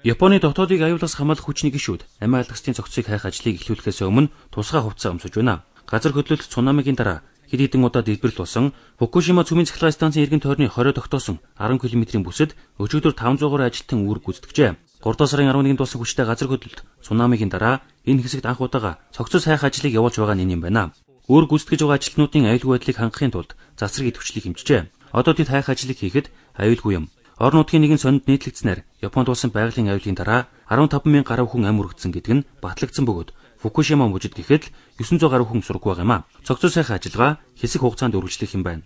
Японы дотоодыг аюулаас хамгаалах хүчний гишүүд амиа алгастын цогцыг хайх ажлыг эхлүүлэхээс өмнө тусгай хувцас өмсөж байна. Газар хөдлөлт цунамигийн дараа хэд хэдэн удаа дэлбэрэл болсон Фукушима цүмийн цахилгаан станцын эргэн тойрны 20 тогтоосон 10 км-ийн бүсэд өчигдөр 500-аар ажилтан үүрэг гүйцэтгэжээ. 3 сарын 11-нд болсон хүчтэй газар хөдлөлт цунамигийн дараа энэ хэсэгт анх удаага цогцос хайх ажлыг явуулж байгаа нь юм байна. Үүрэг гүйцэтгэж байгаа ажилтнуудын аюулгүй байдлыг хангахын тулд засрыг идэвхжлийг хэмжижээ. Одоо тэд хайх ажлыг хийхэд аюулгүй юм. Орон нутгийн нэгэн сонинд нийтлэгдснээр Японд болсон байгалийн аюулын дараа 15,000 гаруй хүн ам өргөцсөн гэдэг нь батлагдсан бөгөөд Фукушима мужид гэхэд 900 гаруй хүн сураг байгаа юм а. Цогцос сайхан ажиллагаа хэсэг хугацаанд үргэлжлэх юм байна.